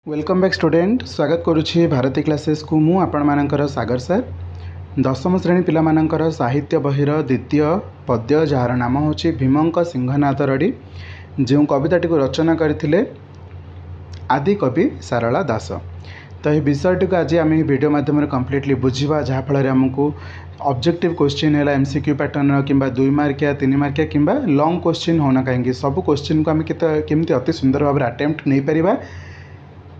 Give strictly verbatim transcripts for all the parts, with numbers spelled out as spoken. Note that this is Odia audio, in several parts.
Welcome back student ସ୍ୱାଗତ କରୁଛି ଭାରତୀ କ୍ଲାସେସ୍କୁ ମୁଁ ଆପଣମାନଙ୍କର ସାଗର ସାର୍ ଦଶମ ଶ୍ରେଣୀ ପିଲାମାନଙ୍କର ସାହିତ୍ୟ ବହିର ଦ୍ୱିତୀୟ ପଦ୍ୟ ଯାହାର ନାମ ହେଉଛି ଭୀମଙ୍କ ସିଂହନାଦ ରଡ଼ି ଯେଉଁ କବିତାଟିକୁ ରଚନା କରିଥିଲେ ଆଦିକବି ସାରଳା ଦାସ ତ ଏହି ବିଷୟଟିକୁ ଆଜି ଆମେ ଏହି ଭିଡ଼ିଓ ମାଧ୍ୟମରେ କମ୍ପ୍ଲିଟଲି ବୁଝିବା ଯାହାଫଳରେ ଆମକୁ ଅବଜେକ୍ଟିଭ୍ କୋଶ୍ଚିନ୍ ହେଲା ଏମ୍ ସି କ୍ୟୁ ପ୍ୟାଟର୍ନର କିମ୍ବା ଦୁଇ ମାର୍କିଆ ତିନି ମାର୍କିଆ କିମ୍ବା ଲଙ୍ଗ୍ କୋଶ୍ଚିନ୍ ହେଉନା କାହିଁକି ସବୁ କୋଶ୍ଚିନ୍କୁ ଆମେ କେତେ କେମିତି ଅତି ସୁନ୍ଦର ଭାବରେ ଆଟେମ୍ପ୍ଟ ନେଇପାରିବା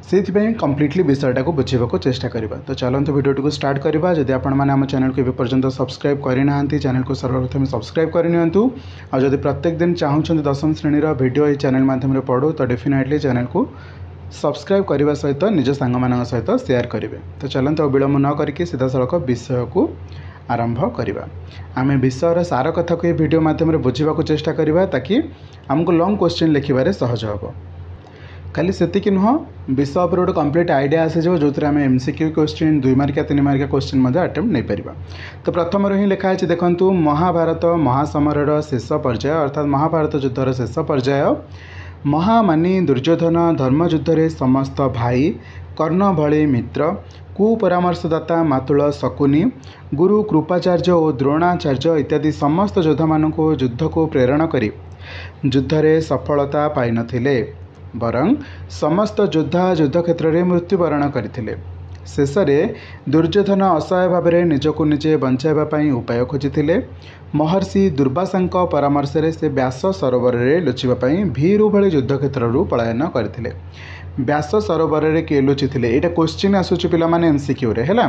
ସେଇଥିପାଇଁ କମ୍ପ୍ଲିଟଲି ବିଷୟଟାକୁ ବୁଝିବାକୁ ଚେଷ୍ଟା କରିବା ତ ଚାଲନ୍ତୁ ଭିଡ଼ିଓଟିକୁ ଷ୍ଟାର୍ଟ କରିବା ଯଦି ଆପଣମାନେ ଆମ ଚ୍ୟାନେଲକୁ ଏବେ ପର୍ଯ୍ୟନ୍ତ ସବସ୍କ୍ରାଇବ୍ କରିନାହାନ୍ତି ଚ୍ୟାନେଲକୁ ସର୍ବପ୍ରଥମେ ସବସ୍କ୍ରାଇବ୍ କରିନିଅନ୍ତୁ ଆଉ ଯଦି ପ୍ରତ୍ୟେକ ଦିନ ଚାହୁଁଛନ୍ତି ଦଶମ ଶ୍ରେଣୀର ଭିଡ଼ିଓ ଏହି ଚ୍ୟାନେଲ ମାଧ୍ୟମରେ ପଢ଼ୁ ତ ଡେଫିନେଟଲି ଚ୍ୟାନେଲକୁ ସବସ୍କ୍ରାଇବ୍ କରିବା ସହିତ ନିଜ ସାଙ୍ଗମାନଙ୍କ ସହିତ ସେୟାର କରିବେ ତ ଚାଲନ୍ତୁ ଆଉ ବିଳମ୍ବ ନ କରିକି ସିଧାସଳଖ ବିଷୟକୁ ଆରମ୍ଭ କରିବା ଆମେ ବିଷୟର ସାର କଥାକୁ ଏହି ଭିଡ଼ିଓ ମାଧ୍ୟମରେ ବୁଝିବାକୁ ଚେଷ୍ଟା କରିବା ତାକି ଆମକୁ ଲଙ୍ଗ୍ କୋଶ୍ଚିନ୍ ଲେଖିବାରେ ସହଜ ହେବ ଖାଲି ସେତିକି ନୁହଁ ବିଷୟ ଉପରେ ଗୋଟେ କମ୍ପ୍ଲିଟ୍ ଆଇଡ଼ିଆ ଆସିଯିବ ଯେଉଁଥିରେ ଆମେ ଏମ୍ ସି କ୍ୟୁ କୋଶ୍ଚିନ୍ ଦୁଇ ମାର୍କିଆ ତିନି ମାର୍କିଆ କୋଶ୍ଚିନ୍ ମଧ୍ୟ ଆଟେମ୍ପ୍ଟ ନେଇପାରିବା ତ ପ୍ରଥମରୁ ହିଁ ଲେଖା ହେଇଛି ଦେଖନ୍ତୁ ମହାଭାରତ ମହାସମରର ଶେଷ ପର୍ଯ୍ୟାୟ ଅର୍ଥାତ୍ ମହାଭାରତ ଯୁଦ୍ଧର ଶେଷ ପର୍ଯ୍ୟାୟ ମହାମାନୀ ଦୁର୍ଯ୍ୟୋଧନ ଧର୍ମଯୁଦ୍ଧରେ ସମସ୍ତ ଭାଇ କର୍ଣ୍ଣ ଭଳି ମିତ୍ର କୁପରାମର୍ଶଦାତା ମାତୁଳ ଶକୁନି ଗୁରୁ କୃପାଚାର୍ଯ୍ୟ ଓ ଦ୍ରୋଣାଚାର୍ଯ୍ୟ ଇତ୍ୟାଦି ସମସ୍ତ ଯୋଦ୍ଧାମାନଙ୍କୁ ଯୁଦ୍ଧକୁ ପ୍ରେରଣ କରି ଯୁଦ୍ଧରେ ସଫଳତା ପାଇନଥିଲେ ବରଂ ସମସ୍ତ ଯୋଦ୍ଧା ଯୁଦ୍ଧକ୍ଷେତ୍ରରେ ମୃତ୍ୟୁବରଣ କରିଥିଲେ ଶେଷରେ ଦୁର୍ଯ୍ୟୋଧନ ଅସହାୟ ଭାବରେ ନିଜକୁ ନିଜେ ବଞ୍ଚାଇବା ପାଇଁ ଉପାୟ ଖୋଜିଥିଲେ ମହର୍ଷି ଦୁର୍ବାସାଙ୍କ ପରାମର୍ଶରେ ସେ ବ୍ୟାସ ସରୋବରରେ ଲୁଚିବା ପାଇଁ ଭୀରୁ ଭଳି ଯୁଦ୍ଧକ୍ଷେତ୍ରରୁ ପଳାୟନ କରିଥିଲେ ବ୍ୟାସ ସରୋବରରେ କିଏ ଲୁଚିଥିଲେ ଏଇଟା କୋଶ୍ଚିନ୍ ଆସୁଛି ପିଲାମାନେ ଏମ୍ ସି କ୍ୟୁରେ ହେଲା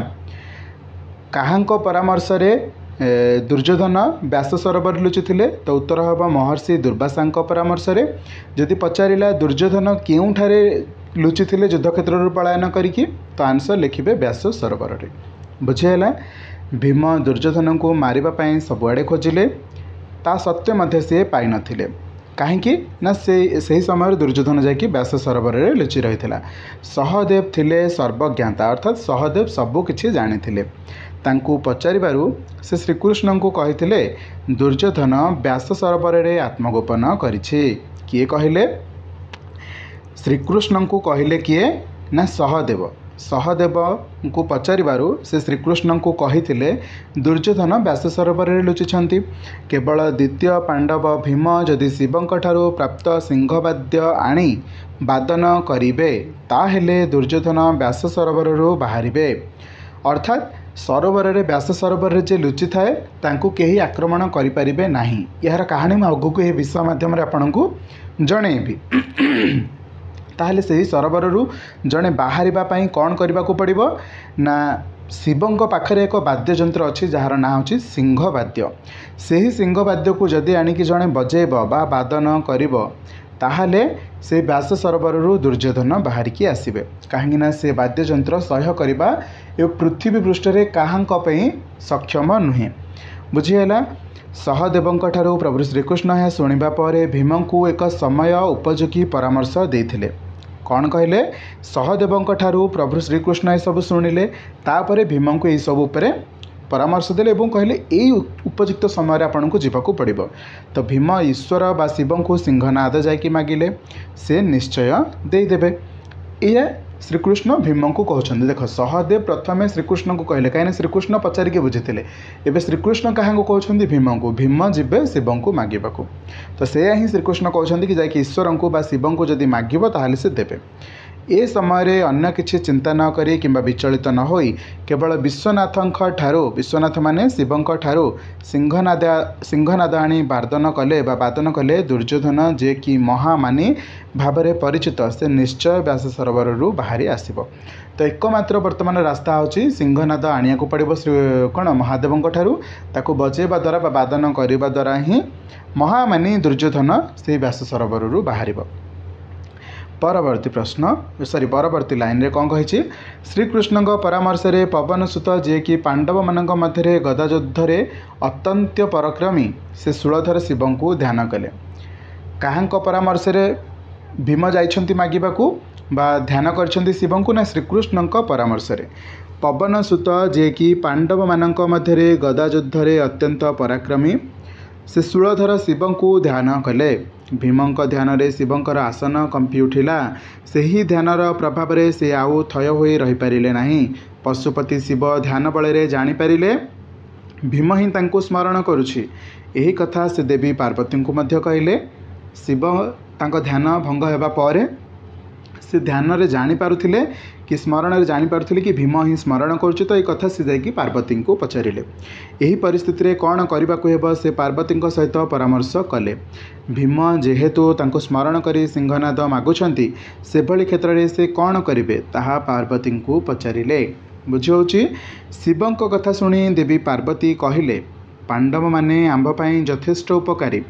କାହାଙ୍କ ପରାମର୍ଶରେ ଦୁର୍ଯ୍ୟୋଧନ ବ୍ୟାସ ସରୋବରରେ ଲୁଚିଥିଲେ ତ ଉତ୍ତର ହେବ ମହର୍ଷି ଦୁର୍ବାସାଙ୍କ ପରାମର୍ଶରେ ଯଦି ପଚାରିଲା ଦୁର୍ଯ୍ୟୋଧନ କେଉଁଠାରେ ଲୁଚିଥିଲେ ଯୁଦ୍ଧକ୍ଷେତ୍ରରୁ ପଳାୟନ କରିକି ତ ଆନ୍ସର୍ ଲେଖିବେ ବ୍ୟାସ ସରୋବରରେ ବୁଝିହେଲା ଭୀମ ଦୁର୍ଯ୍ୟୋଧନଙ୍କୁ ମାରିବା ପାଇଁ ସବୁଆଡ଼େ ଖୋଜିଲେ ତା ସତ୍ତ୍ୱେ ମଧ୍ୟ ସିଏ ପାଇନଥିଲେ କାହିଁକି ନା ସେ ସେହି ସମୟରେ ଦୁର୍ଯ୍ୟୋଧନ ଯାଇକି ବ୍ୟାସ ସରୋବରରେ ଲୁଚି ରହିଥିଲା ସହଦେବ ଥିଲେ ସର୍ବଜ୍ଞାତା ଅର୍ଥାତ୍ ସହଦେବ ସବୁ କିଛି ଜାଣିଥିଲେ ତାଙ୍କୁ ପଚାରିବାରୁ ସେ ଶ୍ରୀକୃଷ୍ଣଙ୍କୁ କହିଥିଲେ ଦୁର୍ଯ୍ୟୋଧନ ବ୍ୟାସ ସରୋବରରେ ଆତ୍ମଗୋପନ କରିଛି କିଏ କହିଲେ ଶ୍ରୀକୃଷ୍ଣଙ୍କୁ କହିଲେ କିଏ ନା ସହଦେବ ସହଦେବଙ୍କୁ ପଚାରିବାରୁ ସେ ଶ୍ରୀକୃଷ୍ଣଙ୍କୁ କହିଥିଲେ ଦୁର୍ଯ୍ୟୋଧନ ବ୍ୟାସ ସରୋବରରେ ଲୁଚିଛନ୍ତି କେବଳ ଦ୍ୱିତୀୟ ପାଣ୍ଡବ ଭୀମ ଯଦି ଶିବଙ୍କ ଠାରୁ ପ୍ରାପ୍ତ ସିଂହବାଦ୍ୟ ଆଣି ବାଦନ କରିବେ ତାହେଲେ ଦୁର୍ଯ୍ୟୋଧନ ବ୍ୟାସ ସରୋବରରୁ ବାହାରିବେ ଅର୍ଥାତ୍ ସରୋବରରେ ବ୍ୟାସ ସରୋବରରେ ଯେ ଲୁଚିଥାଏ ତାଙ୍କୁ କେହି ଆକ୍ରମଣ କରିପାରିବେ ନାହିଁ ଏହାର କାହାଣୀ ମୁଁ ଆଗକୁ ଏହି ବିଷୟ ମାଧ୍ୟମରେ ଆପଣଙ୍କୁ ଜଣେଇବି ତାହେଲେ ସେହି ସରୋବରରୁ ଜଣେ ବାହାରିବା ପାଇଁ କ'ଣ କରିବାକୁ ପଡ଼ିବ ନା ଶିବଙ୍କ ପାଖରେ ଏକ ବାଦ୍ୟଯନ୍ତ୍ର ଅଛି ଯାହାର ନାଁ ହେଉଛି ସିଂହବାଦ୍ୟ ସେହି ସିଂହବାଦ୍ୟକୁ ଯଦି ଆଣିକି ଜଣେ ବଜେଇବ ବା ବାଦନ କରିବ ତାହେଲେ ସେ ବ୍ୟାସ ସରୋବରରୁ ଦୁର୍ଯ୍ୟୋଧନ ବାହାରିକି ଆସିବେ କାହିଁକିନା ସେ ବାଦ୍ୟଯନ୍ତ୍ର ସହ୍ୟ କରିବା ଏ ପୃଥିବୀ ପୃଷ୍ଠରେ କାହାଙ୍କ ପାଇଁ ସକ୍ଷମ ନୁହେଁ ବୁଝିହେଲା ସହଦେବଙ୍କ ଠାରୁ ପ୍ରଭୁ ଶ୍ରୀକୃଷ୍ଣ ଏହା ଶୁଣିବା ପରେ ଭୀମଙ୍କୁ ଏକ ସମୟ ଉପଯୋଗୀ ପରାମର୍ଶ ଦେଇଥିଲେ କ'ଣ କହିଲେ ସହଦେବଙ୍କ ଠାରୁ ପ୍ରଭୁ ଶ୍ରୀକୃଷ୍ଣ ଏସବୁ ଶୁଣିଲେ ତାପରେ ଭୀମଙ୍କୁ ଏହିସବୁ ଉପରେ ପରାମର୍ଶ ଦେଲେ ଏବଂ କହିଲେ ଏଇ ଉପଯୁକ୍ତ ସମୟରେ ଆପଣଙ୍କୁ ଯିବାକୁ ପଡ଼ିବ ତ ଭୀମ ଈଶ୍ୱର ବା ଶିବଙ୍କୁ ସିଂହନାଦ ଯାଇକି ମାଗିଲେ ସେ ନିଶ୍ଚୟ ଦେଇଦେବେ ଏଇଆ ଶ୍ରୀକୃଷ୍ଣ ଭୀମଙ୍କୁ କହୁଛନ୍ତି ଦେଖ ସହଦେବ ପ୍ରଥମେ ଶ୍ରୀକୃଷ୍ଣଙ୍କୁ କହିଲେ କାହିଁକିନା ଶ୍ରୀକୃଷ୍ଣ ପଚାରିକି ବୁଝିଥିଲେ ଏବେ ଶ୍ରୀକୃଷ୍ଣ କାହାଙ୍କୁ କହୁଛନ୍ତି ଭୀମଙ୍କୁ ଭୀମ ଯିବେ ଶିବଙ୍କୁ ମାଗିବାକୁ ତ ସେଇଆ ହିଁ ଶ୍ରୀକୃଷ୍ଣ କହୁଛନ୍ତି କି ଯାଇକି ଈଶ୍ୱରଙ୍କୁ ବା ଶିବଙ୍କୁ ଯଦି ମାଗିବ ତାହେଲେ ସେ ଦେବେ ଏ ସମୟରେ ଅନ୍ୟ କିଛି ଚିନ୍ତା ନ କରି କିମ୍ବା ବିଚଳିତ ନ ହୋଇ କେବଳ ବିଶ୍ୱନାଥଙ୍କ ଠାରୁ ବିଶ୍ୱନାଥ ମାନେ ଶିବଙ୍କ ଠାରୁ ସିଂହନାଦ ସିଂହନାଦ ଆଣି ବାଦନ କଲେ ବା ବାଦନ କଲେ ଦୁର୍ଯ୍ୟୋଧନ ଯିଏକି ମହାମାନୀ ଭାବରେ ପରିଚିତ ସେ ନିଶ୍ଚୟ ବ୍ୟାସ ସରୋବରରୁ ବାହାରି ଆସିବ ତ ଏକମାତ୍ର ବର୍ତ୍ତମାନ ରାସ୍ତା ହେଉଛି ସିଂହନାଦ ଆଣିବାକୁ ପଡ଼ିବ ଶ୍ରୀ କ'ଣ ମହାଦେବଙ୍କ ଠାରୁ ତାକୁ ବଜେଇବା ଦ୍ୱାରା ବା ବାଦନ କରିବା ଦ୍ୱାରା ହିଁ ମହାମାନୀ ଦୁର୍ଯ୍ୟୋଧନ ସେଇ ବ୍ୟାସ ସରୋବରରୁ ବାହାରିବ ପରବର୍ତ୍ତୀ ପ୍ରଶ୍ନ ସରି ପରବର୍ତ୍ତୀ ଲାଇନ୍ରେ କ'ଣ କହିଛି ଶ୍ରୀକୃଷ୍ଣଙ୍କ ପରାମର୍ଶରେ ପବନ ସୁତ ଯିଏକି ପାଣ୍ଡବମାନଙ୍କ ମଧ୍ୟରେ ଗଦାଯୁଦ୍ଧରେ ଅତ୍ୟନ୍ତ ପରାକ୍ରମୀ ସେ ଶୂଳଧର ଶିବଙ୍କୁ ଧ୍ୟାନ କଲେ କାହାଙ୍କ ପରାମର୍ଶରେ ଭୀମ ଯାଇଛନ୍ତି ମାଗିବାକୁ ବା ଧ୍ୟାନ କରିଛନ୍ତି ଶିବଙ୍କୁ ନା ଶ୍ରୀକୃଷ୍ଣଙ୍କ ପରାମର୍ଶରେ ପବନ ସୁତ ଯିଏକି ପାଣ୍ଡବମାନଙ୍କ ମଧ୍ୟରେ ଗଦାଯୁଦ୍ଧରେ ଅତ୍ୟନ୍ତ ପରାକ୍ରମୀ ସେ ଶୂଳଧର ଶିବଙ୍କୁ ଧ୍ୟାନ କଲେ ଭୀମଙ୍କ ଧ୍ୟାନରେ ଶିବଙ୍କର ଆସନ କମ୍ପି ଉଠିଲା। ସେହି ଧ୍ୟାନର ପ୍ରଭାବରେ ସେ ଆଉ ଥୟ ହୋଇ ରହିପାରିଲେ ନାହିଁ। ପଶୁପତି ଶିବ ଧ୍ୟାନ ବଳରେ ଜାଣିପାରିଲେ ଭୀମ ହିଁ ତାଙ୍କୁ ସ୍ମରଣ କରୁଛି। ଏହି କଥା ସେ ଦେବୀ ପାର୍ବତୀଙ୍କୁ ମଧ୍ୟ କହିଲେ। ଶିବ ତାଙ୍କ ଧ୍ୟାନ ଭଙ୍ଗ ହେବା ପରେ ସେ ଧ୍ୟାନରେ ଜାଣିପାରୁଥିଲେ କି ସ୍ମରଣରେ ଜାଣିପାରୁଥିଲେ କି ଭୀମ ହିଁ ସ୍ମରଣ କରୁଛି। ତ ଏଇ କଥା ସେ ଯାଇକି ପାର୍ବତୀଙ୍କୁ ପଚାରିଲେ। ଏହି ପରିସ୍ଥିତିରେ କ'ଣ କରିବାକୁ ହେବ ସେ ପାର୍ବତୀଙ୍କ ସହିତ ପରାମର୍ଶ କଲେ। ଭୀମ ଯେହେତୁ ତାଙ୍କୁ ସ୍ମରଣ କରି ସିଂହନାଦ ମାଗୁଛନ୍ତି, ସେଭଳି କ୍ଷେତ୍ରରେ ସେ କ'ଣ କରିବେ ତାହା ପାର୍ବତୀଙ୍କୁ ପଚାରିଲେ। ବୁଝିହେଉଛି? ଶିବଙ୍କ କଥା ଶୁଣି ଦେବୀ ପାର୍ବତୀ କହିଲେ, ପାଣ୍ଡବମାନେ ଆମ୍ଭ ପାଇଁ ଯଥେଷ୍ଟ ଉପକାରୀ।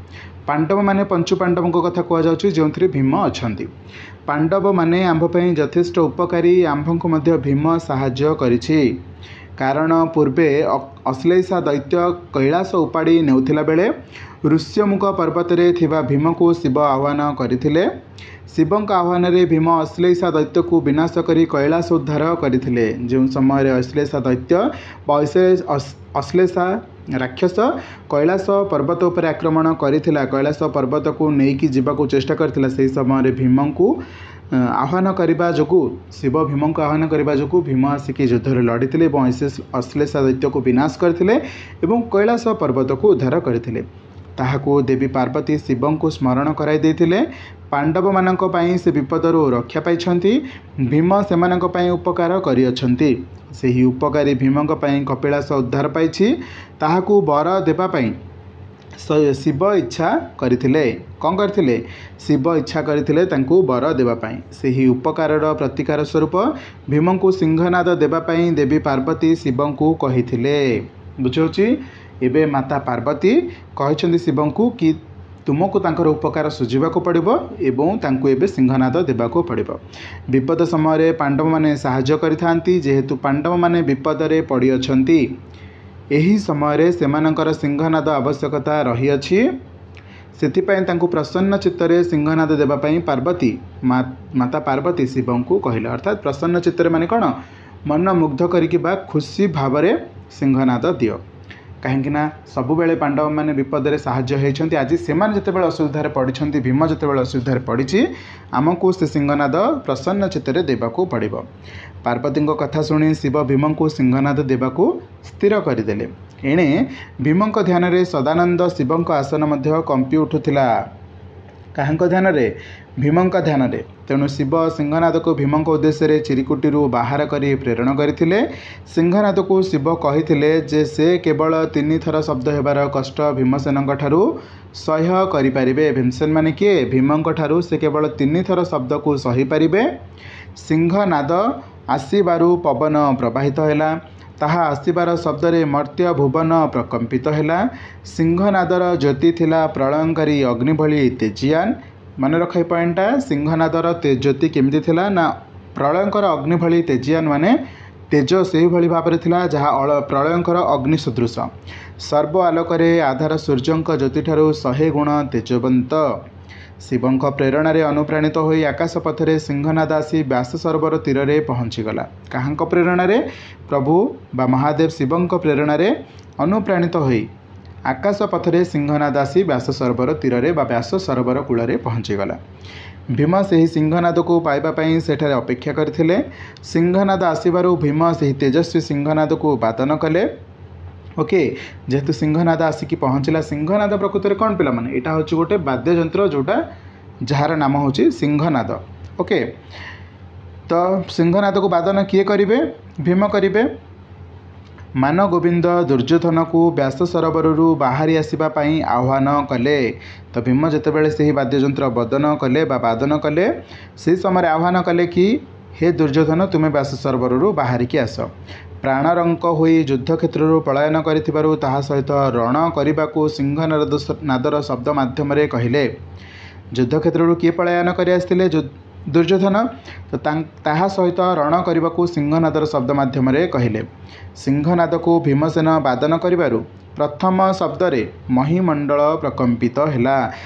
ପାଣ୍ଡବମାନେ ପଞ୍ଚୁ ପାଣ୍ଡବଙ୍କ କଥା କୁହାଯାଉଛି, ଯେଉଁଥିରେ ଭୀମ ଅଛନ୍ତି। ପାଣ୍ଡବମାନେ ଆମ୍ଭ ପାଇଁ ଯଥେଷ୍ଟ ଉପକାରୀ। ଆମ୍ଭଙ୍କୁ ମଧ୍ୟ ଭୀମ ସାହାଯ୍ୟ କରିଛି। କାରଣ ପୂର୍ବେ ଅଶ୍ଳେଷା ଦୈତ୍ୟ କୈଳାସ ଉପାଡ଼ି ନେଉଥିଲା ବେଳେ ଋଷ୍ୟମୁଖ ପର୍ବତରେ ଥିବା ଭୀମକୁ ଶିବ ଆହ୍ୱାନ କରିଥିଲେ। ଶିବଙ୍କ ଆହ୍ୱାନରେ ଭୀମ ଅଶ୍ଳେଷା ଦୈତ୍ୟକୁ ବିନାଶ କରି କୈଳାସ ଉଦ୍ଧାର କରିଥିଲେ। ଯେଉଁ ସମୟରେ ଅଶ୍ଳେଷା ଦୈତ୍ୟ ବା ଅଶ୍ଳେଷା ରାକ୍ଷସ କୈଳାସ ପର୍ବତ ଉପରେ ଆକ୍ରମଣ କରିଥିଲା, କୈଳାସ ପର୍ବତକୁ ନେଇକି ଯିବାକୁ ଚେଷ୍ଟା କରିଥିଲା, ସେହି ସମୟରେ ଭୀମଙ୍କୁ ଆହ୍ୱାନ କରିବା ଯୋଗୁଁ, ଶିବ ଭୀମଙ୍କୁ ଆହ୍ୱାନ କରିବା ଯୋଗୁଁ ଭୀମ ଆସିକି ଯୁଦ୍ଧରେ ଲଢ଼ିଥିଲେ ଏବଂ ଅଶ୍ଳେଷା ଦୈତ୍ୟକୁ ବିନାଶ କରିଥିଲେ ଏବଂ କୈଳାସ ପର୍ବତକୁ ଉଦ୍ଧାର କରିଥିଲେ। ତାହାକୁ ଦେବୀ ପାର୍ବତୀ ଶିବଙ୍କୁ ସ୍ମରଣ କରାଇ ଦେଇଥିଲେ। ପାଣ୍ଡବମାନଙ୍କ ପାଇଁ ସେ ବିପଦରୁ ରକ୍ଷା ପାଇଛନ୍ତି। ଭୀମ ସେମାନଙ୍କ ପାଇଁ ଉପକାର କରିଅଛନ୍ତି। ସେହି ଉପକାରୀ ଭୀମଙ୍କ ପାଇଁ କପିଳାସ ଉଦ୍ଧାର ପାଇଛି। ତାହାକୁ ବର ଦେବା ପାଇଁ ଶିବ ଇଚ୍ଛା କରିଥିଲେ। କ'ଣ କରିଥିଲେ? ଶିବ ଇଚ୍ଛା କରିଥିଲେ ତାଙ୍କୁ ବର ଦେବା ପାଇଁ। ସେହି ଉପକାରର ପ୍ରତିକାର ସ୍ୱରୂପ ଭୀମଙ୍କୁ ସିଂହନାଦ ଦେବା ପାଇଁ ଦେବୀ ପାର୍ବତୀ ଶିବଙ୍କୁ କହିଥିଲେ। ବୁଝିହେଉଛି? ଏବେ ମାତା ପାର୍ବତୀ କହିଛନ୍ତି ଶିବଙ୍କୁ କି ତୁମକୁ ତାଙ୍କର ଉପକାର ଶୁଝିବାକୁ ପଡ଼ିବ ଏବଂ ତାଙ୍କୁ ଏବେ ସିଂହନାଦ ଦେବାକୁ ପଡ଼ିବ। ବିପଦ ସମୟରେ ପାଣ୍ଡବମାନେ ସାହାଯ୍ୟ କରିଥାନ୍ତି। ଯେହେତୁ ପାଣ୍ଡବମାନେ ବିପଦରେ ପଡ଼ିଅଛନ୍ତି, ଏହି ସମୟରେ ସେମାନଙ୍କର ସିଂହନାଦ ଆବଶ୍ୟକତା ରହିଅଛି। ସେଥିପାଇଁ ତାଙ୍କୁ ପ୍ରସନ୍ନ ଚିତ୍ତରେ ସିଂହନାଦ ଦେବା ପାଇଁ ପାର୍ବତୀ ମାତା ପାର୍ବତୀ ଶିବଙ୍କୁ କହିଲେ। ଅର୍ଥାତ୍ ପ୍ରସନ୍ନ ଚିତ୍ତରେ ମାନେ କ'ଣ? ମନ ମୁଗ୍ଧ କରିକି ବା ଖୁସି ଭାବରେ ସିଂହନାଦ ଦିଅ। କାହିଁକିନା ସବୁବେଳେ ପାଣ୍ଡବମାନେ ବିପଦରେ ସାହାଯ୍ୟ ହେଇଛନ୍ତି। ଆଜି ସେମାନେ ଯେତେବେଳେ ଅସୁବିଧାରେ ପଡ଼ିଛନ୍ତି, ଭୀମ ଯେତେବେଳେ ଅସୁବିଧାରେ ପଡ଼ିଛି, ଆମକୁ ସେ ସିଂହନାଦ ପ୍ରସନ୍ନ ଚିତ୍ତରେ ଦେବାକୁ ପଡ଼ିବ। ପାର୍ବତୀଙ୍କ କଥା ଶୁଣି ଶିବ ଭୀମଙ୍କୁ ସିଂହନାଦ ଦେବାକୁ ସ୍ଥିର କରିଦେଲେ। ଏଣେ ଭୀମଙ୍କ ଧ୍ୟାନରେ ସଦାନନ୍ଦ ଶିବଙ୍କ ଆସନ ମଧ୍ୟ କମ୍ପି ଉଠୁଥିଲା। କାହାଙ୍କ ଧ୍ୟାନରେ? ଭୀମଙ୍କ ଧ୍ୟାନରେ। ତେଣୁ ଶିବ ସିଂହନାଦକୁ ଭୀମଙ୍କ ଉଦ୍ଦେଶ୍ୟରେ ଚିରିକୁଟିରୁ ବାହାର କରି ପ୍ରେରଣ କରିଥିଲେ। ସିଂହନାଦକୁ ଶିବ କହିଥିଲେ ଯେ ସେ କେବଳ ତିନିଥର ଶବ୍ଦ ହେବାର କଷ୍ଟ ଭୀମସେନଙ୍କ ଠାରୁ ସହ୍ୟ କରିପାରିବେ। ଭୀମସେନ ମାନେ କିଏ? ଭୀମଙ୍କ ଠାରୁ ସେ କେବଳ ତିନିଥର ଶବ୍ଦକୁ ସହିପାରିବେ। ସିଂହନାଦ ଆସିବାରୁ ପବନ ପ୍ରବାହିତ ହେଲା। ତାହା ଆସିବାର ଶବ୍ଦରେ ମର୍ତ୍ତ୍ୟ ଭୁବନ ପ୍ରକମ୍ପିତ ହେଲା। ସିଂହନାଦର ଜ୍ୟୋତି ଥିଲା ପ୍ରଳୟଙ୍କାରୀ ଅଗ୍ନି ଭଳି ତେଜିଆନ। ମନେ ରଖ ଏ ପଏଣ୍ଟଟା। ସିଂହନାଦର ଜ୍ୟୋତି କେମିତି ଥିଲା ନା ପ୍ରଳୟଙ୍କର ଅଗ୍ନି ଭଳି ତେଜିଆନ, ମାନେ ତେଜ ସେହିଭଳି ଭାବରେ ଥିଲା ଯାହା ପ୍ରଳୟଙ୍କର ଅଗ୍ନି ସଦୃଶ। ସର୍ବ ଆଲୋକରେ ଆଧାର ସୂର୍ଯ୍ୟଙ୍କ ଜ୍ୟୋତିଠାରୁ ଶହେ ଗୁଣ ତେଜବନ୍ତ। ଶିବଙ୍କ ପ୍ରେରଣାରେ ଅନୁପ୍ରାଣିତ ହୋଇ ଆକାଶ ପଥରେ ସିଂହନାଦ ଆସି ବ୍ୟାସ ସରୋବର ତୀରରେ ପହଞ୍ଚିଗଲା। କାହାଙ୍କ ପ୍ରେରଣାରେ? ପ୍ରଭୁ ବା ମହାଦେବ ଶିବଙ୍କ ପ୍ରେରଣାରେ ଅନୁପ୍ରାଣିତ ହୋଇ ଆକାଶ ପଥରେ ସିଂହନାଦ ଆସି ବ୍ୟାସ ସରୋବର ତୀରରେ ବା ବ୍ୟାସ ସରୋବର କୂଳରେ ପହଞ୍ଚିଗଲା। ଭୀମ ସେହି ସିଂହନାଦକୁ ପାଇବା ପାଇଁ ସେଠାରେ ଅପେକ୍ଷା କରିଥିଲେ। ସିଂହନାଦ ଆସିବାରୁ ଭୀମ ସେହି ତେଜସ୍ୱୀ ସିଂହନାଦକୁ ବାଦନ କଲେ। ଓକେ, ଯେହେତୁ ସିଂହନାଦ ଆସିକି ପହଞ୍ଚିଲା, ସିଂହନାଦ ପ୍ରକୃତରେ କ'ଣ ପିଲାମାନେ? ଏଇଟା ହେଉଛି ଗୋଟେ ବାଦ୍ୟଯନ୍ତ୍ର ଯେଉଁଟା ଯାହାର ନାମ ହେଉଛି ସିଂହନାଦ। ଓକେ, ତ ସିଂହନାଦକୁ ବାଦନ କିଏ କରିବେ? ଭୀମ କରିବେ। ମାନଗୋବିନ୍ଦ ଦୁର୍ଯ୍ୟୋଧନକୁ ବ୍ୟାସ ସରୋବରରୁ ବାହାରି ଆସିବା ପାଇଁ ଆହ୍ୱାନ କଲେ। ତ ଭୀମ ଯେତେବେଳେ ସେହି ବାଦ୍ୟଯନ୍ତ୍ର ବଦନ କଲେ ବା ବାଦନ କଲେ, ସେହି ସମୟରେ ଆହ୍ୱାନ କଲେ କି ହେ ଦୁର୍ଯ୍ୟୋଧନ, ତୁମେ ବ୍ୟାସ ସରୋବରରୁ ବାହାରିକି ଆସ। ପ୍ରାଣରଙ୍କ ହୋଇ ଯୁଦ୍ଧକ୍ଷେତ୍ରରୁ ପଳାୟନ କରିଥିବାରୁ ତାହା ସହିତ ରଣ କରିବାକୁ ସିଂହନାଦ ନାଦର ଶବ୍ଦ ମାଧ୍ୟମରେ କହିଲେ। ଯୁଦ୍ଧକ୍ଷେତ୍ରରୁ କିଏ ପଳାୟନ କରି ଆସିଥିଲେ? ଦୁର୍ଯ୍ୟୋଧନ। ତ ତାହା ସହିତ ରଣ କରିବାକୁ ସିଂହନାଦର ଶବ୍ଦ ମାଧ୍ୟମରେ କହିଲେ। ସିଂହନାଦକୁ ଭୀମସେନ ବାଦନ କରିବାରୁ ପ୍ରଥମ ଶବ୍ଦରେ ମହିମଣ୍ଡଳ ପ୍ରକମ୍ପିତ ହେଲା।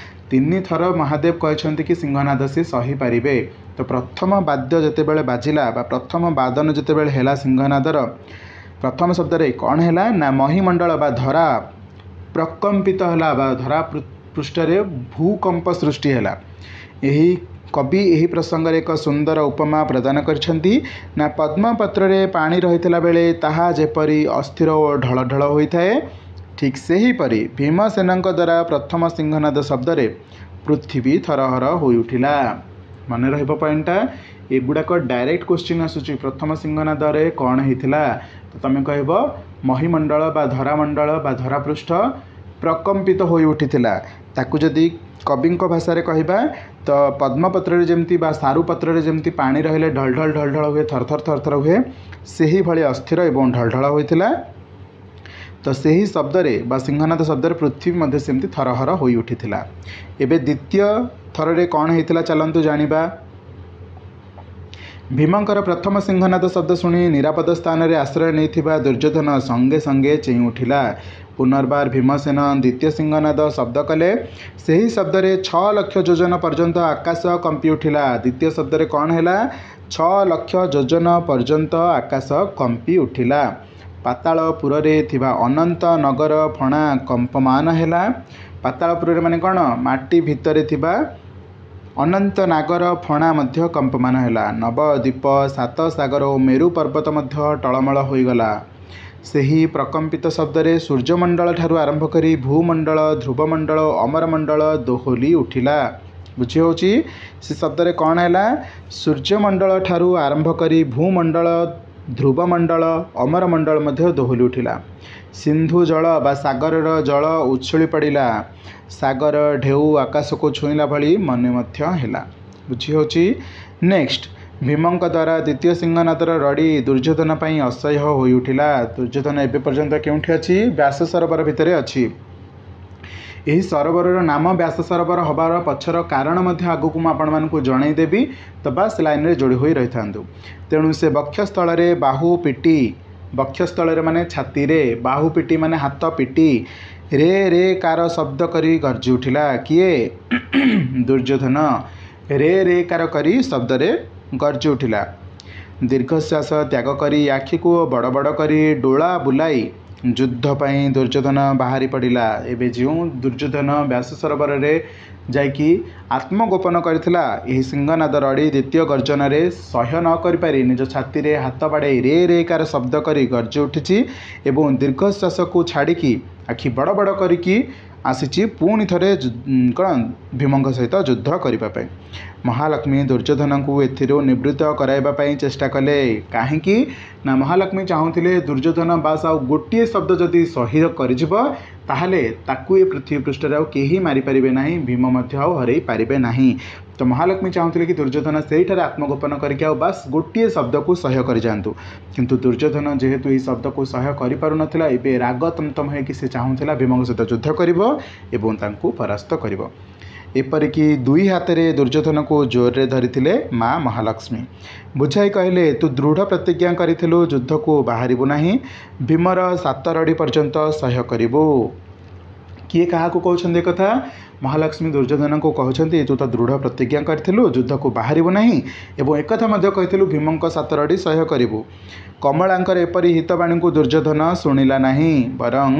ତିନିଥର ମହାଦେବ କହିଛନ୍ତି କି ସିଂହନାଦ ସେ ସହିପାରିବେ। ତ ପ୍ରଥମ ବାଦ୍ୟ ଯେତେବେଳେ ବାଜିଲା ବା ପ୍ରଥମ ବାଦନ ଯେତେବେଳେ ହେଲା ସିଂହନାଦର, ପ୍ରଥମ ଶବ୍ଦରେ କ'ଣ ହେଲା ନା ମହିମଣ୍ଡଳ ବା ଧରା ପ୍ରକମ୍ପିତ ହେଲା ବା ଧରା ପୃଷ୍ଠରେ ଭୂକମ୍ପ ସୃଷ୍ଟି ହେଲା। ଏହି କବି ଏହି ପ୍ରସଙ୍ଗରେ ଏକ ସୁନ୍ଦର ଉପମା ପ୍ରଦାନ କରିଛନ୍ତି ନା, ପଦ୍ମପତ୍ରରେ ପାଣି ରହିଥିଲା ବେଳେ ତାହା ଯେପରି ଅସ୍ଥିର ଓ ଢଳଢଳ ହୋଇଥାଏ, ଠିକ୍ ସେହିପରି ଭୀମସେନଙ୍କ ଦ୍ୱାରା ପ୍ରଥମ ସିଂହନାଦ ଶବ୍ଦରେ ପୃଥିବୀ ଥରହର ହୋଇଉଠିଲା। ମନେ ରହିବ ପଏଣ୍ଟଟା, ଏଗୁଡ଼ାକ ଡାଇରେକ୍ଟ କୋଶ୍ଚିନ୍ ଆସୁଛି। ପ୍ରଥମ ସିଂହନାଦରେ କ'ଣ ହେଇଥିଲା? ତ ତମେ କହିବ ମହିମଣ୍ଡଳ ବା ଧରାମଣ୍ଡଳ ବା ଧରାପୃଷ୍ଠ ପ୍ରକମ୍ପିତ ହୋଇ ଉଠିଥିଲା। ତାକୁ ଯଦି କବିଙ୍କ ଭାଷାରେ କହିବା ତ ପଦ୍ମପତ୍ରରେ ଯେମିତି ବା ସାରୁପତ୍ରରେ ଯେମିତି ପାଣି ରହିଲେ ଢଳଢଳ ଢଳଢଳ ହୁଏ, ଥରଥର ଥରଥର ହୁଏ, ସେହିଭଳି ଅସ୍ଥିର ଏବଂ ଢଳଢଳ ହୋଇଥିଲା। ତ ସେହି ଶବ୍ଦରେ ବା ସିଂହନାଦ ଶବ୍ଦରେ ପୃଥିବୀ ମଧ୍ୟ ସେମିତି ଥରହର ହୋଇ ଉଠିଥିଲା। ଏବେ ଦ୍ୱିତୀୟ ଥରରେ କ'ଣ ହେଇଥିଲା ଚାଲନ୍ତୁ ଜାଣିବା। ଭୀମଙ୍କର ପ୍ରଥମ ସିଂହନାଦ ଶବ୍ଦ ଶୁଣି ନିରାପଦ ସ୍ଥାନରେ ଆଶ୍ରୟ ନେଇଥିବା ଦୁର୍ଯ୍ୟୋଧନ ସଙ୍ଗେ ସଙ୍ଗେ ଚେଇଁ ଉଠିଲା। ପୁନର୍ବାର ଭୀମସେନ ଦ୍ୱିତୀୟ ସିଂହନାଦ ଶବ୍ଦ କଲେ। ସେହି ଶବ୍ଦରେ ଛଅ ଲକ୍ଷ ଯୋଜନ ପର୍ଯ୍ୟନ୍ତ ଆକାଶ କମ୍ପି ଉଠିଲା। ଦ୍ୱିତୀୟ ଶବ୍ଦରେ କ'ଣ ହେଲା? ଛଅ ଲକ୍ଷ ଯୋଜନ ପର୍ଯ୍ୟନ୍ତ ଆକାଶ କମ୍ପି ଉଠିଲା। ପାତାଳପୁରରେ ଥିବା ଅନନ୍ତ ନଗର ଫଣା କମ୍ପମାନ ହେଲା। ପାତାଳପୁରରେ ମାନେ କ'ଣ? ମାଟି ଭିତରେ ଥିବା ଅନନ୍ତ ନାଗର ଫଣା ମଧ୍ୟ କମ୍ପମାନ ହେଲା। ନବଦ୍ୱୀପ, ସାତ ସାଗର ଓ ମେରୁ ପର୍ବତ ମଧ୍ୟ ଟଳମଳ ହୋଇଗଲା। ସେହି ପ୍ରକମ୍ପିତ ଶବ୍ଦରେ ସୂର୍ଯ୍ୟମଣ୍ଡଳ ଠାରୁ ଆରମ୍ଭ କରି ଭୂମଣ୍ଡଳ, ଧ୍ରୁବମଣ୍ଡଳ ଓ ଅମରମଣ୍ଡଳ ଦୋହଲି ଉଠିଲା। ବୁଝି ହେଉଛି? ସେ ଶବ୍ଦରେ କ'ଣ ହେଲା? ସୂର୍ଯ୍ୟମଣ୍ଡଳ ଠାରୁ ଆରମ୍ଭ କରି ଭୂମଣ୍ଡଳ, ଧ୍ରୁବମଣ୍ଡଳ, ଅମରମଣ୍ଡଳ ମଧ୍ୟ ଦୋହଲି ଉଠିଲା। ସିନ୍ଧୁ ଜଳ ବା ସାଗରର ଜଳ ଉଛୁଳି ପଡ଼ିଲା। ସାଗର ଢେଉ ଆକାଶକୁ ଛୁଇଁଲା ଭଳି ମନେ ମଧ୍ୟ ହେଲା। ବୁଝି ହେଉଛି? ନେକ୍ସଟ, ଭୀମଙ୍କ ଦ୍ୱାରା ଦ୍ୱିତୀୟ ସିଂହନାଦର ରଡ଼ି ଦୁର୍ଯ୍ୟୋଧନ ପାଇଁ ଅସହ୍ୟ ହୋଇଉଠିଲା। ଦୁର୍ଯ୍ୟୋଧନ ଏବେ ପର୍ଯ୍ୟନ୍ତ କେଉଁଠି ଅଛି? ବ୍ୟାସ ସରୋବର ଭିତରେ ଅଛି। ଏହି ସରୋବରର ନାମ ବ୍ୟାସ ସରୋବର ହେବାର ପଛର କାରଣ ମଧ୍ୟ ଆଗକୁ ମୁଁ ଆପଣମାନଙ୍କୁ ଜଣାଇଦେବି, ତ ବାସ୍ ଲାଇନ୍ରେ ଯୋଡ଼ି ହୋଇ ରହିଥାନ୍ତୁ। ତେଣୁ ସେ ବକ୍ଷସ୍ଥଳରେ ବାହୁ ପିଟି, ବକ୍ଷସ୍ଥଳରେ ମାନେ ଛାତିରେ, ବାହୁ ପିଟି ମାନେ ହାତ ପିଟି, ରେ ରେ କାର ଶବ୍ଦ କରି ଗର୍ଜି ଉଠିଲା। କିଏ? ଦୁର୍ଯ୍ୟୋଧନ ରେ ରେ କାର କରି ଶବ୍ଦରେ ଗର୍ଜି ଉଠିଲା। ଦୀର୍ଘଶ୍ୱାସ ତ୍ୟାଗ କରି ଆଖିକୁ ବଡ଼ ବଡ଼ କରି ଡୋଳା ବୁଲାଇ ଯୁଦ୍ଧ ପାଇଁ ଦୁର୍ଯ୍ୟୋଧନ ବାହାରି ପଡ଼ିଲା। ଏବେ ଯେଉଁ ଦୁର୍ଯ୍ୟୋଧନ ବ୍ୟାସ ସରୋବରରେ ଯାଇକି ଆତ୍ମଗୋପନ କରିଥିଲା, ଏହି ସିଂହନାଦ ରଡ଼ି ଦ୍ୱିତୀୟ ଗର୍ଜନରେ ସହ୍ୟ ନ କରିପାରି ନିଜ ଛାତିରେ ହାତ ବାଡ଼େଇ ରେ ରେ କାର ଶବ୍ଦ କରି ଗର୍ଜି ଉଠିଛି ଏବଂ ଦୀର୍ଘଶ୍ୱାସକୁ ଛାଡ଼ିକି ଆଖି ବଡ଼ ବଡ଼ କରିକି ଆସିଛି ପୁଣି ଥରେ କ'ଣ ଭୀମଙ୍କ ସହିତ ଯୁଦ୍ଧ କରିବା ପାଇଁ। ମହାଲକ୍ଷ୍ମୀ ଦୁର୍ଯ୍ୟୋଧନଙ୍କୁ ଏଥିରୁ ନିବୃତ୍ତ କରାଇବା ପାଇଁ ଚେଷ୍ଟା କଲେ। କାହିଁକି ନା ମହାଲକ୍ଷ୍ମୀ ଚାହୁଁଥିଲେ ଦୁର୍ଯ୍ୟୋଧନ ବାସ୍ ଆଉ ଗୋଟିଏ ଶବ୍ଦ ଯଦି ସହ୍ୟ କରିଯିବ ତାହେଲେ ତାକୁ ଏ ପୃଥିବୀ ପୃଷ୍ଠରେ ଆଉ କେହି ମାରିପାରିବେ ନାହିଁ, ଭୀମ ମଧ୍ୟ ଆଉ ହରେଇ ପାରିବେ ନାହିଁ। ତ ମହାଲକ୍ଷ୍ମୀ ଚାହୁଁଥିଲେ କି ଦୁର୍ଯ୍ୟୋଧନ ସେଇଠାରେ ଆତ୍ମଗୋପନ କରିକି ଆଉ ବାସ୍ ଗୋଟିଏ ଶବ୍ଦକୁ ସହ୍ୟ କରିଯାଆନ୍ତୁ। କିନ୍ତୁ ଦୁର୍ଯ୍ୟୋଧନ ଯେହେତୁ ଏହି ଶବ୍ଦକୁ ସହ୍ୟ କରିପାରୁନଥିଲା, ଏବେ ରାଗ ତମତମ ହେଇକି ସେ ଚାହୁଁଥିଲା ଭୀମଙ୍କ ସହିତ ଯୁଦ୍ଧ କରିବ ଏବଂ ତାଙ୍କୁ ପରାସ୍ତ କରିବ। ଏପରିକି ଦୁଇ ହାତରେ ଦୁର୍ଯ୍ୟୋଧନକୁ ଜୋରରେ ଧରିଥିଲେ ମା ମହାଲକ୍ଷ୍ମୀ। ବୁଝାଇ କହିଲେ, ତୁ ଦୃଢ଼ ପ୍ରତିଜ୍ଞା କରିଥିଲୁ ଯୁଦ୍ଧକୁ ବାହାରିବୁ ନାହିଁ, ଭୀମର ସାତ ରଡ଼ି ପର୍ଯ୍ୟନ୍ତ ସହ୍ୟ କରିବୁ। କିଏ କାହାକୁ କହୁଛନ୍ତି ଏ କଥା? ମହାଲକ୍ଷ୍ମୀ ଦୁର୍ଯ୍ୟୋଧନଙ୍କୁ କହୁଛନ୍ତି, ତୁ ତ ଦୃଢ଼ ପ୍ରତିଜ୍ଞା କରିଥିଲୁ ଯୁଦ୍ଧକୁ ବାହାରିବୁ ନାହିଁ ଏବଂ ଏକଥା ମଧ୍ୟ କହିଥିଲୁ ଭୀମଙ୍କ ସାତ ରଡ଼ି ସହ୍ୟ କରିବୁ। କମଳାଙ୍କର ଏପରି ହିତବାଣୀକୁ ଦୁର୍ଯ୍ୟୋଧନ ଶୁଣିଲା ନାହିଁ, ବରଂ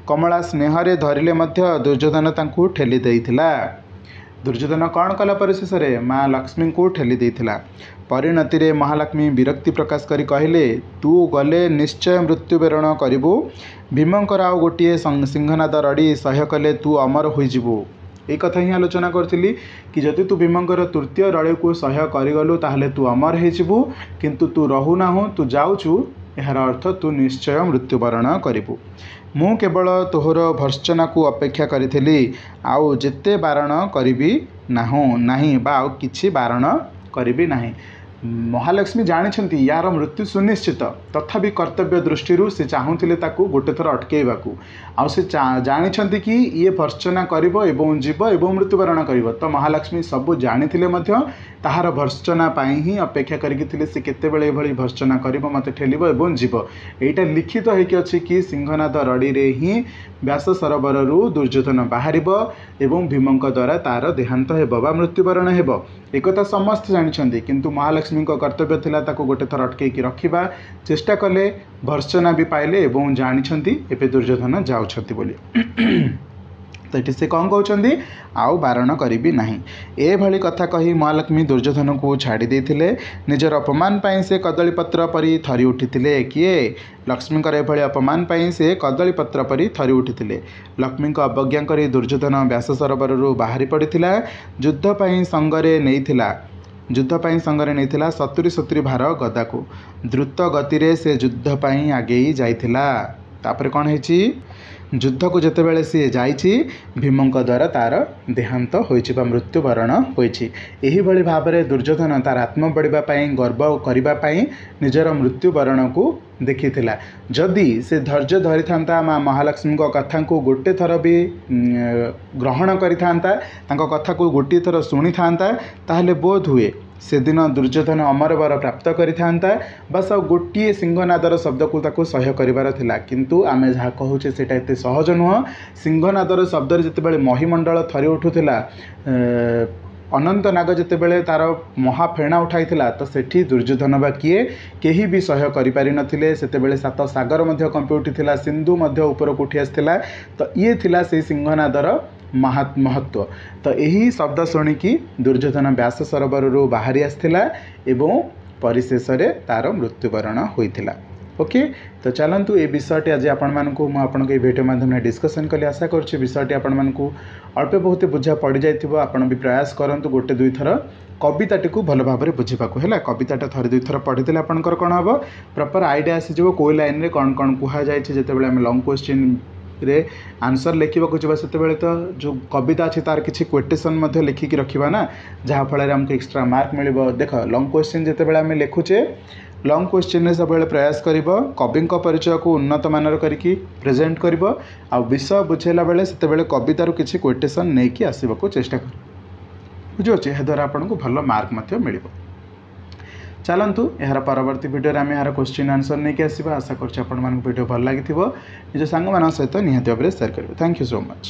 କମଳା ସ୍ନେହରେ ଧରିଲେ ମଧ୍ୟ ଦୁର୍ଯ୍ୟୋଧନ ତାଙ୍କୁ ଠେଲି ଦେଇଥିଲା। ଦୁର୍ଯ୍ୟୋଧନ କ'ଣ କଲା ପରିଶେଷରେ? ମା ଲକ୍ଷ୍ମୀଙ୍କୁ ଠେଲି ଦେଇଥିଲା। ପରିଣତିରେ ମହାଲକ୍ଷ୍ମୀ ବିରକ୍ତି ପ୍ରକାଶ କରି କହିଲେ, ତୁ ଗଲେ ନିଶ୍ଚୟ ମୃତ୍ୟୁବରଣ କରିବୁ। ଭୀମଙ୍କର ଆଉ ଗୋଟିଏ ସିଂହନାଦ ରଡ଼ି ସହ୍ୟ କଲେ ତୁ ଅମର ହୋଇଯିବୁ। ଏଇ କଥା ହିଁ ଆଲୋଚନା କରିଥିଲି କି ଯଦି ତୁ ଭୀମଙ୍କର ତୃତୀୟ ରଡ଼ିକୁ ସହ୍ୟ କରିଗଲୁ ତାହେଲେ ତୁ ଅମର ହେଇଯିବୁ, କିନ୍ତୁ ତୁ ରହୁନାହୁଁ, ତୁ ଯାଉଛୁ, ଏହାର ଅର୍ଥ ତୁ ନିଶ୍ଚୟ ମୃତ୍ୟୁବରଣ କରିବୁ। ମୁଁ କେବଳ ତୋହର ଭର୍ତ୍ସନାକୁ ଅପେକ୍ଷା କରିଥିଲି, ଆଉ ଯେତେ ବାରଣ କରିବି ନାହୁଁ ନାହିଁ ବା ଆଉ କିଛି ବାରଣ କରିବି ନାହିଁ। ମହାଲକ୍ଷ୍ମୀ ଜାଣିଛନ୍ତି ୟାର ମୃତ୍ୟୁ ସୁନିଶ୍ଚିତ, ତଥାପି କର୍ତ୍ତବ୍ୟ ଦୃଷ୍ଟିରୁ ସେ ଚାହୁଁଥିଲେ ତାକୁ ଗୋଟେ ଥର ଅଟକେଇବାକୁ। ଆଉ ସେ ଜାଣିଛନ୍ତି କି ଇଏ ଭର୍ତ୍ସନା କରିବ ଏବଂ ଯିବ ଏବଂ ମୃତ୍ୟୁବରଣ କରିବ। ତ ମହାଲକ୍ଷ୍ମୀ ସବୁ ଜାଣିଥିଲେ ମଧ୍ୟ ତାହାର ଭର୍ତ୍ସନା ପାଇଁ ହିଁ ଅପେକ୍ଷା କରିକି ଥିଲେ, ସେ କେତେବେଳେ ଏଭଳି ଭର୍ତ୍ସନା କରିବ, ମୋତେ ଠେଲିବ ଏବଂ ଯିବ। ଏଇଟା ଲିଖିତ ହେଇକି ଅଛି କି ସିଂହନାଦ ରଡ଼ିରେ ହିଁ ବ୍ୟାସ ସରୋବରରୁ ଦୁର୍ଯ୍ୟୋଧନ ବାହାରିବ ଏବଂ ଭୀମଙ୍କ ଦ୍ୱାରା ତାର ଦେହାନ୍ତ ହେବ ବା ମୃତ୍ୟୁବରଣ ହେବ। ଏକଥା ସମସ୍ତେ ଜାଣିଛନ୍ତି, କିନ୍ତୁ ମହାଲକ୍ଷ୍ମୀଙ୍କ କର୍ତ୍ତବ୍ୟ ଥିଲା ତାକୁ ଗୋଟେ ଥର ଅଟକେଇକି ରଖିବା। ଚେଷ୍ଟା କଲେ, ଭର୍ତ୍ସନା ବି ପାଇଲେ ଏବଂ ଜାଣିଛନ୍ତି ଏବେ ଦୁର୍ଯ୍ୟୋଧନ ଯାଉଛନ୍ତି ବୋଲି। ତ ତ ଏଠି ସେ କ'ଣ କହୁଛନ୍ତି? ଆଉ ବାରଣ କରିବି ନାହିଁ। ଏଭଳି କଥା କହି ମହାଲକ୍ଷ୍ମୀ ଦୁର୍ଯ୍ୟୋଧନକୁ ଛାଡ଼ି ଦେଇଥିଲେ। ନିଜର ଅପମାନ ପାଇଁ ସେ କଦଳୀପତ୍ର ପରି ଥରି ଉଠିଥିଲେ। କିଏ? ଲକ୍ଷ୍ମୀଙ୍କର ଏଭଳି ଅପମାନ ପାଇଁ ସେ କଦଳୀପତ୍ର ପରି ଥରି ଉଠିଥିଲେ। ଲକ୍ଷ୍ମୀଙ୍କ ଅବଜ୍ଞା କରି ଦୁର୍ଯ୍ୟୋଧନ ବ୍ୟାସ ସରୋବରରୁ ବାହାରି ପଡ଼ିଥିଲା। ଯୁଦ୍ଧ ପାଇଁ ସଙ୍ଗରେ ନେଇଥିଲା ଯୁଦ୍ଧ ପାଇଁ ସଙ୍ଗରେ ନେଇଥିଲା ସତୁରି ସତୁରି ଭାର ଗଦାକୁ। ଦ୍ରୁତ ଗତିରେ ସେ ଯୁଦ୍ଧ ପାଇଁ ଆଗେଇ ଯାଇଥିଲା। ତାପରେ କ'ଣ ହେଇଛି? ଯୁଦ୍ଧକୁ ଯେତେବେଳେ ସିଏ ଯାଇଛି, ଭୀମଙ୍କ ଦ୍ୱାରା ତା'ର ଦେହାନ୍ତ ହୋଇଛି ବା ମୃତ୍ୟୁବରଣ ହୋଇଛି। ଏହିଭଳି ଭାବରେ ଦୁର୍ଯ୍ୟୋଧନ ତା'ର ଆତ୍ମ ବଢ଼ିବା ପାଇଁ, ଗର୍ବ କରିବା ପାଇଁ ନିଜର ମୃତ୍ୟୁବରଣକୁ ଦେଖିଥିଲା। ଯଦି ସେ ଧୈର୍ଯ୍ୟ ଧରିଥାନ୍ତା, ମା ମହାଲକ୍ଷ୍ମୀଙ୍କ କଥାକୁ ଗୋଟେ ଥର ବି ଗ୍ରହଣ କରିଥାନ୍ତା, ତାଙ୍କ କଥାକୁ ଗୋଟିଏ ଥର ଶୁଣିଥାନ୍ତା, ତାହେଲେ ବୋଧ ହୁଏ ସେଦିନ ଦୁର୍ଯ୍ୟୋଧନ ଅମରବର ପ୍ରାପ୍ତ କରିଥାନ୍ତା। ବାସ୍, ଆଉ ଗୋଟିଏ ସିଂହନାଦର ଶବ୍ଦକୁ ତାକୁ ସହ୍ୟ କରିବାର ଥିଲା। କିନ୍ତୁ ଆମେ ଯାହା କହୁଛେ ସେଇଟା ଏତେ ସହଜ ନୁହଁ। ସିଂହନାଦର ଶବ୍ଦରେ ଯେତେବେଳେ ମହିମଣ୍ଡଳ ଥରି ଉଠୁଥିଲା, ଅନନ୍ତ ନାଗ ଯେତେବେଳେ ତା'ର ମହାଫେଣା ଉଠାଇଥିଲା, ତ ସେଠି ଦୁର୍ଯ୍ୟୋଧନ ବା କିଏ, କେହି ବି ସହ୍ୟ କରିପାରିନଥିଲେ। ସେତେବେଳେ ସାତ ସାଗର ମଧ୍ୟ କମ୍ପି ଉଠିଥିଲା, ସିନ୍ଧୁ ମଧ୍ୟ ଉପରକୁ ଉଠି ଆସିଥିଲା। ତ ଇଏ ଥିଲା ସେଇ ସିଂହନାଦର ମହତ୍ଵ। ତ ଏହି ଶବ୍ଦ ଶୁଣିକି ଦୁର୍ଯ୍ୟୋଧନ ବ୍ୟାସ ସରୋବରରୁ ବାହାରି ଆସିଥିଲା ଏବଂ ପରିଶେଷରେ ତା'ର ମୃତ୍ୟୁବରଣ ହୋଇଥିଲା। ଓକେ, ତ ଚାଲନ୍ତୁ, ଏ ବିଷୟଟି ଆଜି ଆପଣମାନଙ୍କୁ ମୁଁ ଆପଣଙ୍କୁ ଏଇ ଭିଡ଼ିଓ ମାଧ୍ୟମରେ ଡିସ୍କସନ୍ କଲି। ଆଶା କରୁଛି ବିଷୟଟି ଆପଣମାନଙ୍କୁ ଅଳ୍ପ ବହୁତ ବୁଝା ପଡ଼ିଯାଇଥିବ। ଆପଣ ବି ପ୍ରୟାସ କରନ୍ତୁ ଗୋଟେ ଦୁଇଥର କବିତାଟିକୁ ଭଲ ଭାବରେ ବୁଝିବାକୁ। ହେଲା, କବିତାଟା ଥରେ ଦୁଇଥର ପଢ଼ିଦେଲେ ଆପଣଙ୍କର କ'ଣ ହେବ? ପ୍ରପର୍ ଆଇଡ଼ିଆ ଆସିଯିବ କେଉଁ ଲାଇନ୍ରେ କ'ଣ କ'ଣ କୁହାଯାଇଛି। ଯେତେବେଳେ ଆମେ ଲଙ୍ଗ୍ କ୍ୱେଶ୍ଚିନ୍ରେ ଆନ୍ସର୍ ଲେଖିବାକୁ ଯିବା, ସେତେବେଳେ ତ ଯେଉଁ କବିତା ଅଛି ତା'ର କିଛି କ୍ୱୋଟେସନ୍ ମଧ୍ୟ ଲେଖିକି ରଖିବା ନା, ଯାହାଫଳରେ ଆମକୁ ଏକ୍ସଟ୍ରା ମାର୍କ ମିଳିବ। ଦେଖ, ଲଙ୍ଗ୍ କ୍ୱେଶ୍ଚିନ୍ ଯେତେବେଳେ ଆମେ ଲେଖୁଛେ, ଲଙ୍ଗ୍ କ୍ୱେଶ୍ଚିନ୍ରେ ସବୁବେଳେ ପ୍ରୟାସ କରିବ କବିଙ୍କ ପରିଚୟକୁ ଉନ୍ନତ ମାନର କରିକି ପ୍ରେଜେଣ୍ଟ କରିବ, ଆଉ ବିଷୟ ବୁଝେଇଲା ବେଳେ ସେତେବେଳେ କବିତାରୁ କିଛି କ୍ୱୋଟେସନ୍ ନେଇକି ଆସିବାକୁ ଚେଷ୍ଟା କରିବ। ବୁଝିପାରୁଛି? ଏହାଦ୍ୱାରା ଆପଣଙ୍କୁ ଭଲ ମାର୍କ ମଧ୍ୟ ମିଳିବ। ଚାଲନ୍ତୁ, ଏହାର ପରବର୍ତ୍ତୀ ଭିଡ଼ିଓରେ ଆମେ ଏହାର କ୍ୱେଶ୍ଚିନ୍ ଆନ୍ସର୍ ନେଇକି ଆସିବା। ଆଶା କରୁଛି ଆପଣମାନଙ୍କୁ ଭିଡ଼ିଓ ଭଲ ଲାଗିଥିବ। ନିଜ ସାଙ୍ଗମାନଙ୍କ ସହିତ ନିହାତି ଭାବରେ ସେୟାର କରିବେ। Thank you so much.